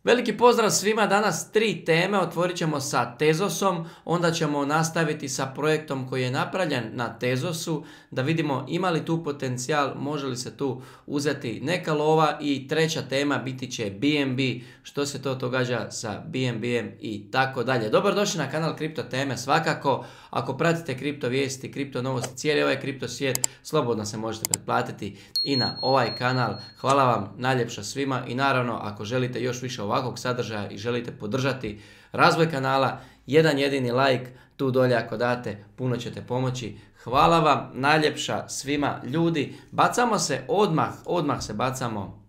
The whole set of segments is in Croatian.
Veliki pozdrav svima, danas 3 teme, otvorit ćemo sa Tezosom, onda ćemo nastaviti sa projektom koji je napravljen na Tezosu, da vidimo ima li tu potencijal, može li se tu uzeti neka lova i treća tema biti će BNB, što se to događa sa BNB-em i tako dalje. Dobrodošli na kanal Kripto teme, svakako, ako pratite kripto vijesti, kripto novosti, cijeli ovaj kripto svijet, slobodno se možete pretplatiti i na ovaj kanal. Hvala vam najljepša svima i naravno ako želite još više ovakvog sadržaja i želite podržati razvoj kanala, jedan jedini like tu dolje ako date, puno ćete pomoći. Hvala vam najljepša svima ljudi. Bacamo se odmah se bacamo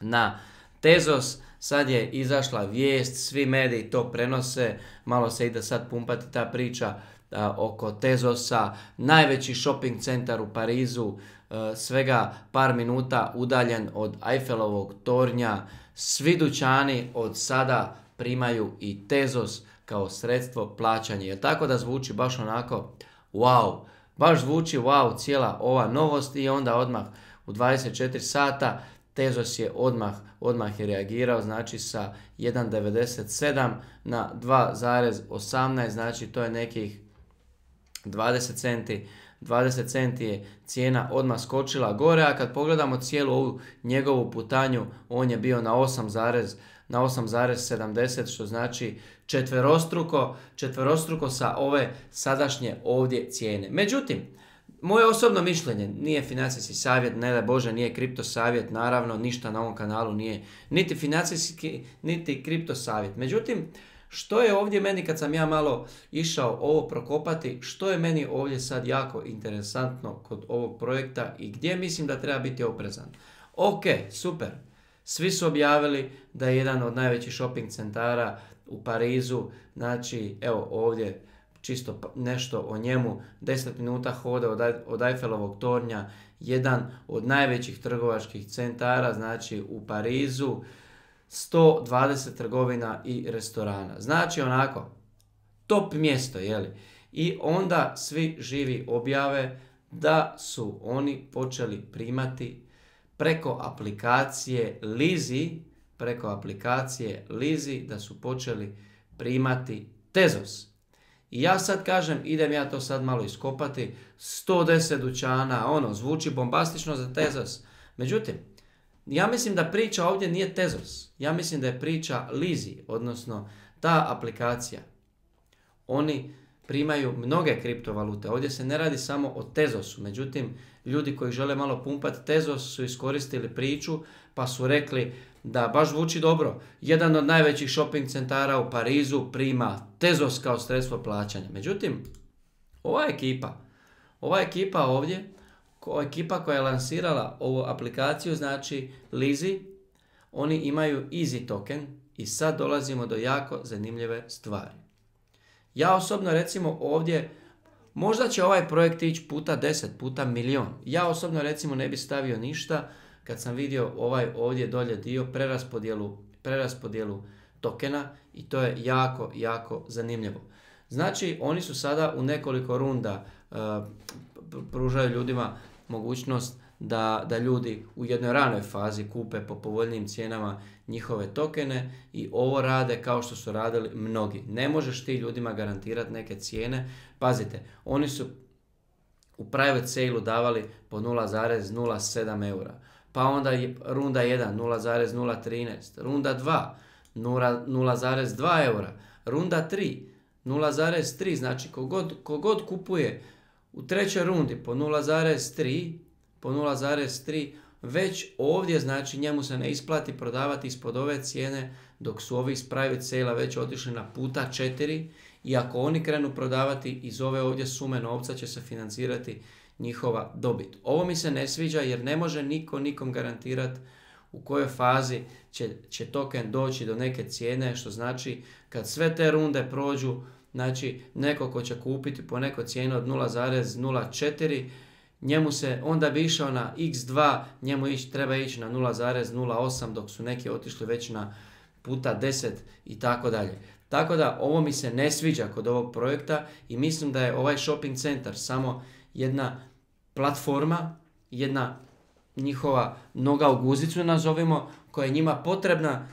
na Tezos. Sad je izašla vijest, svi mediji to prenose, malo se ide sad pumpati ta priča oko Tezosa, najveći shopping centar u Parizu, svega par minuta udaljen od Eiffelovog tornja. Svi dućani od sada primaju i Tezos kao sredstvo plaćanja. Jer tako da zvuči baš onako wow, baš zvuči wow cijela ova novost i onda odmah u 24 sata Tezos je odmah je reagirao, znači sa 1,97 na 2,18, znači to je nekih 20 centi. 20 centi je cijena odmah skočila gore, a kad pogledamo cijelu ovu njegovu putanju, on je bio na 8,70, što znači četverostruko sa ove sadašnje ovdje cijene. Međutim, moje osobno mišljenje, nije financijski savjet, ne daj Bože, nije kripto savjet, naravno ništa na ovom kanalu nije niti financijski, niti kripto savjet. Međutim, što je ovdje meni kad sam ja malo išao ovo prokopati, što je meni ovdje sad jako interesantno kod ovog projekta i gdje mislim da treba biti oprezan. Ok, super, svi su objavili da je jedan od najvećih shopping centara u Parizu, znači evo ovdje čisto nešto o njemu, 10 minuta hoda od Eiffelovog tornja, jedan od najvećih trgovačkih centara, znači u Parizu, 120 trgovina i restorana. Znači onako, top mjesto, jeli? I onda svi živi objave da su oni počeli primati preko aplikacije Lizi, da su počeli primati Tezos. I ja sad kažem, idem ja to sad malo iskopati, 110 dućana, zvuči bombastično za Tezos. Međutim, ja mislim da priča ovdje nije Tezos, ja mislim da je priča Lizi, odnosno ta aplikacija. Oni primaju mnoge kriptovalute, ovdje se ne radi samo o Tezosu, međutim, ljudi koji žele malo pumpati Tezos su iskoristili priču pa su rekli da baš zvuči dobro. Jedan od najvećih shopping centara u Parizu prima Tezos kao sredstvo plaćanja. Međutim, ova ekipa ovdje, ekipa koja je lansirala ovu aplikaciju, znači Lizi, oni imaju Easy token i sad dolazimo do jako zanimljive stvari. Ja osobno recimo ovdje, možda će ovaj projekt ići puta 10, puta milion. Ja osobno recimo ne bi stavio ništa kad sam vidio ovaj ovdje dolje dio preraspodjelu tokena i to je jako zanimljivo. Znači oni su sada u nekoliko runda pružaju ljudima mogućnost da ljudi u jednoj ranoj fazi kupe po povoljnijim cijenama njihove tokene i ovo rade kao što su radili mnogi. Ne možeš ti ljudima garantirati neke cijene. Pazite, oni su u private sale-u davali po 0,07 eura. Pa onda je runda 1 0,013, runda 2 0,2 eura, runda 3 0,3, znači kogod kupuje u trećoj rundi po 0,3, već ovdje znači njemu se ne isplati prodavati ispod ove cijene dok su ovi iz private sale-a već otišli na puta 4 i ako oni krenu prodavati iz ove ovdje sume novca će se financirati njihova dobit. Ovo mi se ne sviđa jer ne može nikom garantirati u kojoj fazi će token doći do neke cijene, što znači kad sve te runde prođu, znači neko ko će kupiti po nekoj cijeni od 0,04, njemu se onda bi išao na x2, njemu treba ići na 0,08 dok su neki otišli već na puta 10 i tako dalje. Tako da ovo mi se ne sviđa kod ovog projekta i mislim da je ovaj shopping centar samo jedna platforma, jedna njihova noga u guzicu nazovimo, koja je njima potrebna,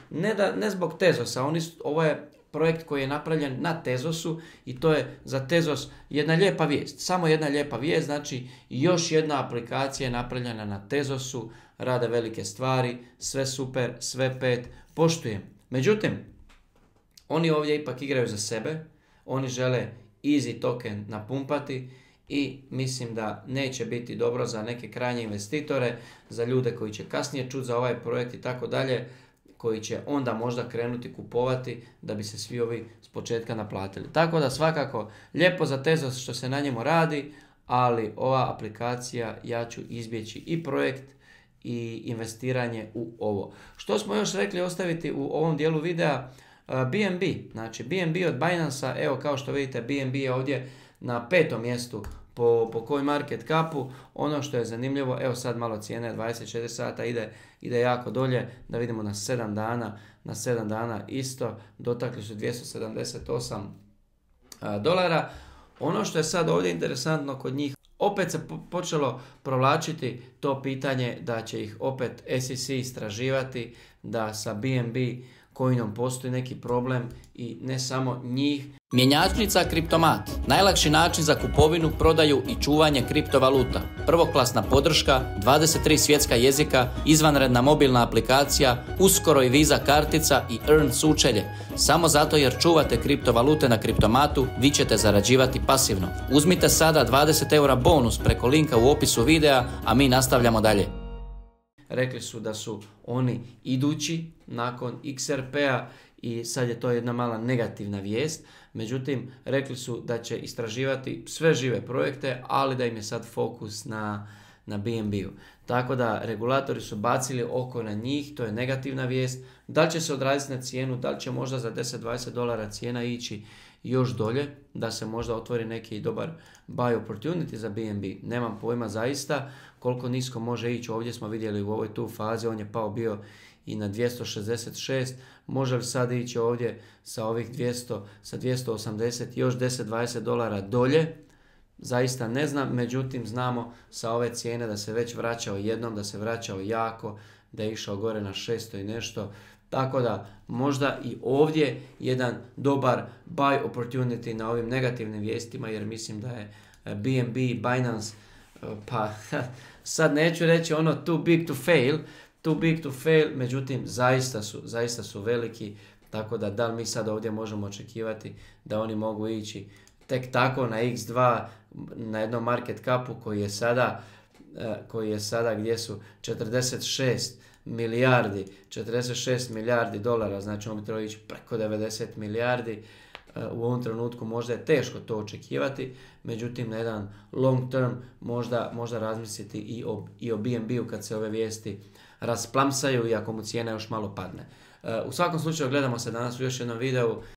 ne zbog Tezosa, ovo je projekt koji je napravljen na Tezosu i to je za Tezos jedna lijepa vijest. Samo jedna lijepa vijest, znači još jedna aplikacija je napravljena na Tezosu, rade velike stvari, sve super, sve 5, poštujem. Međutim, oni ovdje ipak igraju za sebe, oni žele easy token napumpati i mislim da neće biti dobro za neke krajnje investitore, za ljude koji će kasnije čuti za ovaj projekt i tako dalje, koji će onda možda krenuti kupovati da bi se svi ovi s početka naplatili. Tako da svakako lijepo za Tezos što se na njemu radi, ali ova aplikacija ja ću izbjeći i projekt i investiranje u ovo. Što smo još rekli ostaviti u ovom dijelu videa? BNB, znači BNB od Binance-a, evo kao što vidite BNB je ovdje na 5. mjestu po CoinMarketCapu. Ono što je zanimljivo, evo sad malo cijene, 24 sata ide jako dolje, da vidimo na 7 dana, na 7 dana isto, dotakli su $278. Ono što je sad ovdje interesantno kod njih, opet se počelo provlačiti to pitanje da će ih opet SEC istraživati, da sa BNB coinom postoji neki problem i ne samo njih. Mjenjačnica Kriptomat, najlakši način za kupovinu, prodaju i čuvanje kriptovaluta. Prvoklasna podrška, 23 svjetska jezika, izvanredna mobilna aplikacija, uskoro i Visa kartica i Earn sučelje. Samo zato jer čuvate kriptovalute na Kriptomatu, vi ćete zarađivati pasivno. Uzmite sada 20 eura bonus preko linka u opisu videa, a mi nastavljamo dalje. Rekli su da su oni idući nakon XRP-a i sad je to jedna mala negativna vijest. Međutim, rekli su da će istraživati sve žive projekte, ali da im je sad fokus na BNB-u. Tako da regulatori su bacili oko na njih, to je negativna vijest. Da li će se odraziti na cijenu, da li će možda za $10-20 cijena ići još dolje, da se možda otvori neki dobar buy opportunity za BNB. Nemam pojma zaista koliko nisko može ići. Ovdje smo vidjeli u ovoj tu fazi, on je pao bio i na 266. Može li sad ići ovdje sa ovih 200, sa 280 još $10-20 dolje? Zaista ne znam, međutim znamo sa ove cijene da se već vraćao jednom, da se vraćao jako, da je išao gore na 600 i nešto. Tako da možda i ovdje jedan dobar buy opportunity na ovim negativnim vijestima, jer mislim da je BNB, Binance, pa sad neću reći ono too big to fail, međutim zaista su veliki, tako da li mi sad ovdje možemo očekivati da oni mogu ići tek tako na X2 na jednom market capu koji je sada gdje su 46 milijardi dolara, znači on bi trebao ići preko 90 milijardi. U ovom trenutku možda je teško to očekivati, međutim na jedan long term možda razmisliti i o BNB-u kad se ove vijesti rasplamsaju i ako mu cijena još malo padne. U svakom slučaju gledamo se danas u još jednom videu.